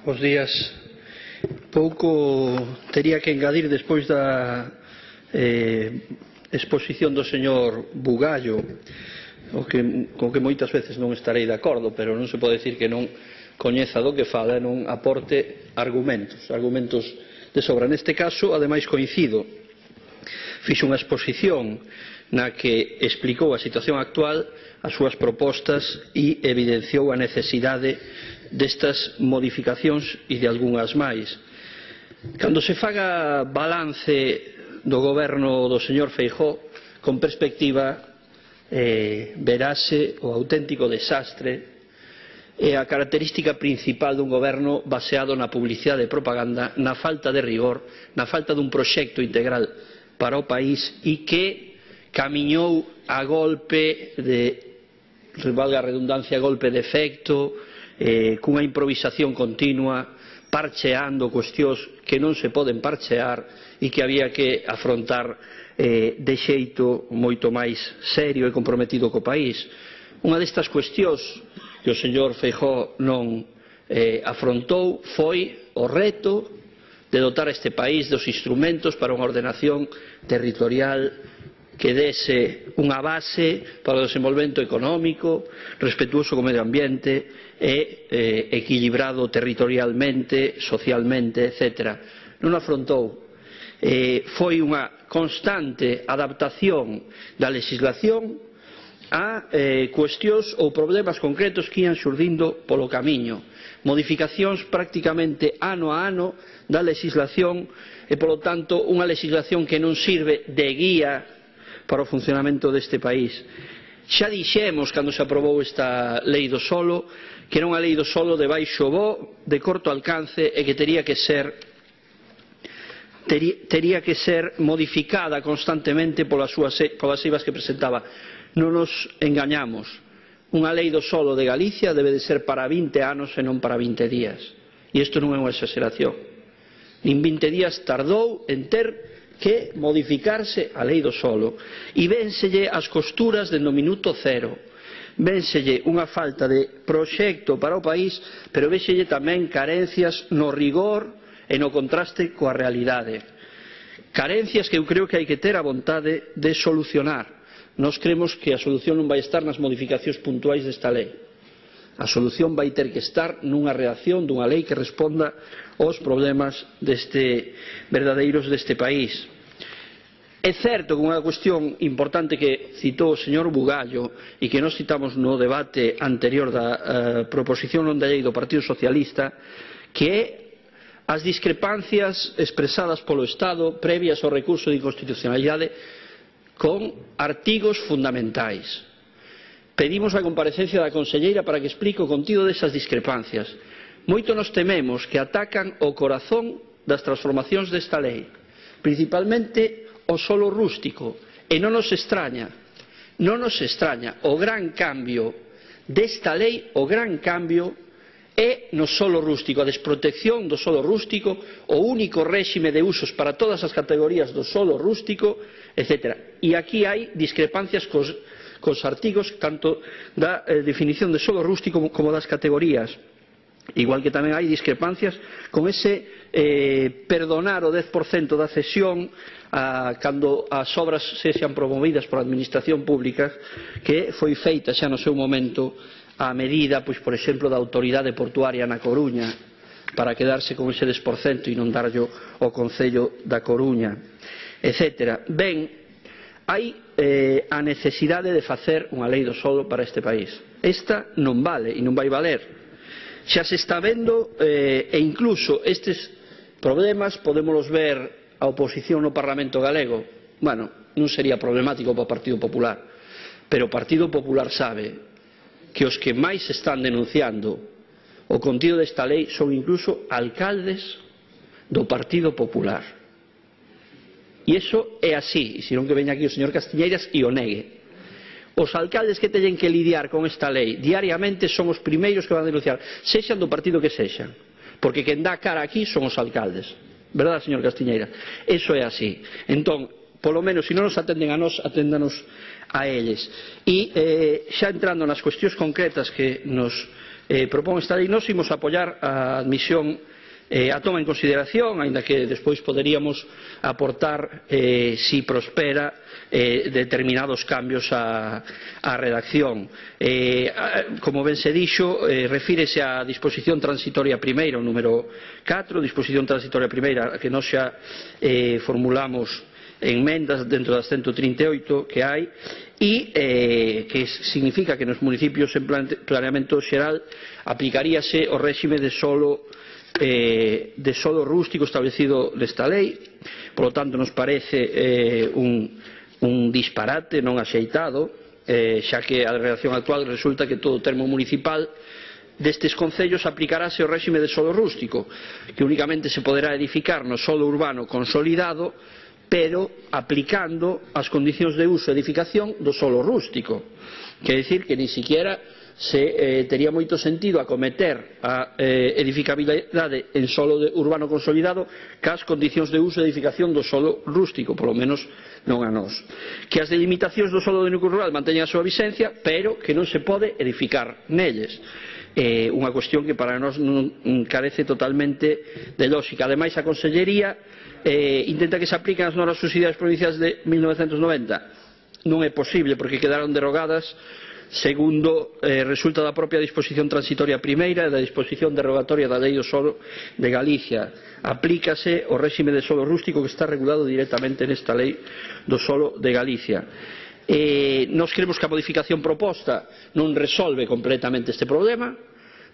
Bos días. Pouco tería que engadir despois da exposición do señor Bugallo, co que moitas veces non estarei de acordo, pero non se pode dicir que non coñeza do que fala e non aporte argumentos de sobra. Neste caso, ademais, coincido. Fixo unha exposición na que explicou a situación actual, as súas propostas e evidenciou a necesidade destas modificacións e de algunhas máis. Cando se faga balance do goberno do señor Feijóo, con perspectiva, verase o auténtico desastre e a característica principal dun goberno baseado na publicidade e propaganda, na falta de rigor, na falta dun proxecto integral para o país e que camiñou a golpe de, valga a redundancia, golpe de efecto, cunha improvisación continua, parcheando cuestións que non se poden parchear e que había que afrontar de xeito moito máis serio e comprometido co país. Unha destas cuestións que o señor Feijóo non afrontou foi o reto de dotar este país dos instrumentos para unha ordenación territorial que dese unha base para o desenvolvemento económico, respetuoso co medio ambiente e equilibrado territorialmente, socialmente, etc. Non afrontou. Foi unha constante adaptación da legislación a cuestións ou problemas concretos que ian xurdindo polo camiño, modificacións prácticamente ano a ano da legislación e, polo tanto, unha legislación que non sirve de guía para o funcionamento deste país. Xa dixemos, cando se aprobou esta lei do solo, que era unha lei do solo de baixo bo, de corto alcance e que tería que ser modificada constantemente polas eivas que presentaba. Non nos engañamos. Unha lei do solo de Galicia debe de ser para 20 anos e non para 20 días. E isto non é unha exageración. Nin 20 días tardou en ter que modificarse a lei do solo e vénselle as costuras dende o minuto cero, vénselle unha falta de proxecto para o país, pero vénselle tamén carencias no rigor e no contraste coa realidade, carencias que eu creo que hai que ter a vontade de solucionar. Nós cremos que a solución non vai estar nas modificacións puntuais desta lei. A solución vai ter que estar nunha reacción dunha lei que responda aos problemas verdadeiros deste país. É certo que unha cuestión importante que citou o señor Bugallo e que nós citamos no debate anterior da proposición non de lei do Partido Socialista, que é as discrepancias expresadas polo Estado previas ao recurso de inconstitucionalidade con artigos fundamentais. Pedimos a comparecencia da conselleira para que explique o contido desas discrepancias. Moito nos tememos que atacan o corazón das transformacións desta lei, principalmente o solo rústico, e non nos extraña, o gran cambio desta lei, o gran cambio é no solo rústico, a desprotección do solo rústico, o único réxime de usos para todas as categorías do solo rústico, etc. E aquí hai discrepancias cos artigos tanto da definición de solo rústico como das categorías, igual que tamén hai discrepancias con ese perdonar o 10% da cesión cando as obras sexan promovidas por a administración pública, que foi feita xa no seu momento a medida, pois, por exemplo, da autoridade portuaria na Coruña, para quedarse con ese 10% e non darllo ao Concello da Coruña, etc. Ben, hai a necesidade de facer unha lei do solo para este país. Esta non vale e non vai valer. Xa se está vendo e incluso estes problemas podémolos ver a oposición no Parlamento galego. Bueno, non sería problemático para o Partido Popular, pero o Partido Popular sabe que os que máis están denunciando o contido desta lei son incluso alcaldes do Partido Popular. E iso é así, e senón que veña aquí o señor Castiñeiras e o negue. Os alcaldes que teñen que lidiar con esta lei diariamente son os primeiros que van a denunciar, sexan do partido que sexan, porque quen dá cara aquí son os alcaldes. Verdad, señor Castiñeira? Iso é así. Entón, polo menos, se non nos atenden a nós, aténdanos a eles. E xa entrando nas cuestións concretas que nos propón esta lei. Nós imos apoiar a admisión, a toma en consideración, aínda que despois poderíamos aportar, si prospera, determinados cambios á redacción. Como ben se dixo, refírese á disposición transitoria primeira, o número 4, disposición transitoria primeira, que nós xa formulamos enmendas dentro das 138 que hai, e que significa que nos municipios en planeamento xeral aplicaríase o réxime de solo rústico establecido nesta lei. Por lo tanto, nos parece un disparate non axeitado, xa que a redacción actual resulta que todo o termo municipal destes concellos aplicarase o réxime de solo rústico, que únicamente se poderá edificar no solo urbano consolidado, pero aplicando as condicións de uso e edificación do solo rústico. Quer dicir que ni siquiera tería moito sentido acometer a edificabilidade en solo urbano consolidado cas condicións de uso e edificación do solo rústico, polo menos non a nós. Que as delimitacións do solo de núcleo rural manteñan a súa vixencia, pero que non se pode edificar nelles. Unha cuestión que para nós non carece totalmente de lógica. Ademais, a Consellería intenta que se apliquen as normas subsidiarias provinciais de 1990. Non é posible, porque quedaron derogadas segundo resulta da propia disposición transitoria primeira e da disposición derogatoria da Lei do Solo de Galicia. Aplícase o réxime de solo rústico que está regulado directamente nesta Lei do Solo de Galicia. Nós creemos que a modificación proposta non resolve completamente este problema,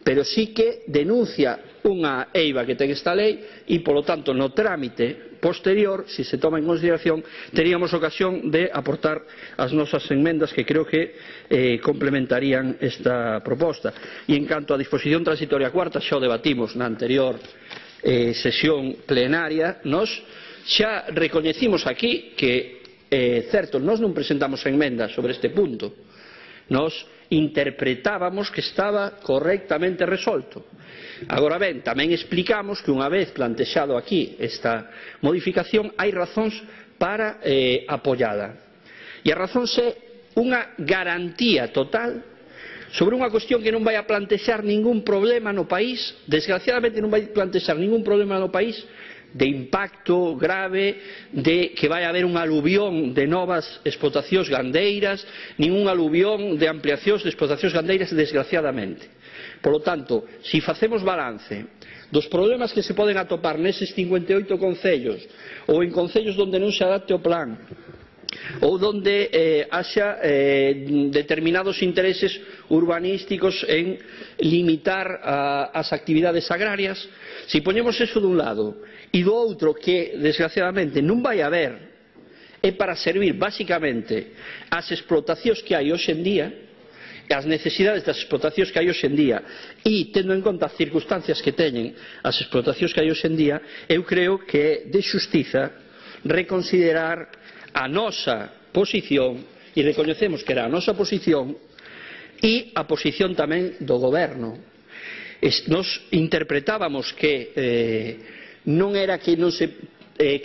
pero sí que denuncia unha eiva que ten esta lei e, polo tanto, no trámite posterior, se se toma en consideración, teríamos ocasión de aportar as nosas enmendas que creo que complementarían esta proposta. E en canto á disposición transitoria cuarta, xa o debatimos na anterior sesión plenaria, nós xa recoñecimos aquí que, certo, nós non presentamos enmendas sobre este punto, nós interpretábamos que estaba correctamente resolto. Agora ben, tamén explicamos que unha vez plantexado aquí esta modificación hai razóns para apoiala. E a razón é unha garantía total sobre unha cuestión que non vai a plantexar ningún problema no país, desgraciadamente non vai plantexar ningún problema no país de impacto grave, de que vai haber unha aluvión de novas explotacións gandeiras, ningún aluvión de ampliacións de explotacións gandeiras, desgraciadamente. Por lo tanto, se facemos balance dos problemas que se poden atopar neses 58 concellos ou en concellos onde non se adapte o plan ou onde haxa determinados intereses urbanísticos en limitar as actividades agrarias, se poñemos eso dun lado e do outro que desgraciadamente non vai haber, é para servir basicamente as explotacións que hai hoxe en día, as necesidades das explotacións que hai hoxe en día, e tendo en conta as circunstancias que teñen as explotacións que hai hoxe en día, eu creo que é de xustiza reconsiderar a nosa posición, e recoñecemos que era a nosa posición e a posición tamén do goberno. Nos interpretábamos que non era que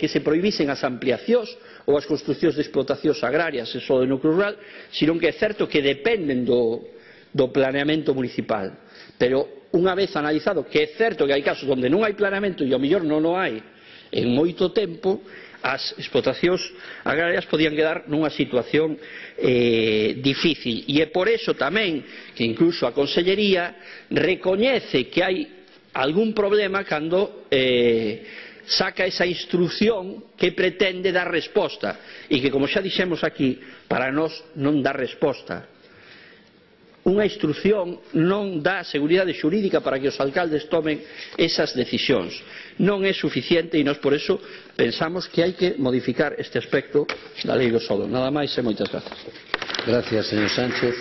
se prohibisen as ampliacións ou as construcións de explotacións agrarias e só de núcleo rural, senón que é certo que dependen do planeamento municipal. Pero unha vez analizado que é certo que hai casos onde non hai planeamento e ao mellor non o hai en moito tempo, as explotacións agrarias podían quedar nunha situación difícil. E é por eso tamén que incluso a Consellería recoñece que hai algún problema cando saca esa instrucción que pretende dar resposta e que, como xa dixemos aquí, para nós non dá resposta. Unha instrucción non dá seguridade xurídica para que os alcaldes tomen esas decisións. Non é suficiente e nós por eso pensamos que hai que modificar este aspecto da Lei do Solo. Nada máis e moitas grazas. Gracias, señor Sánchez.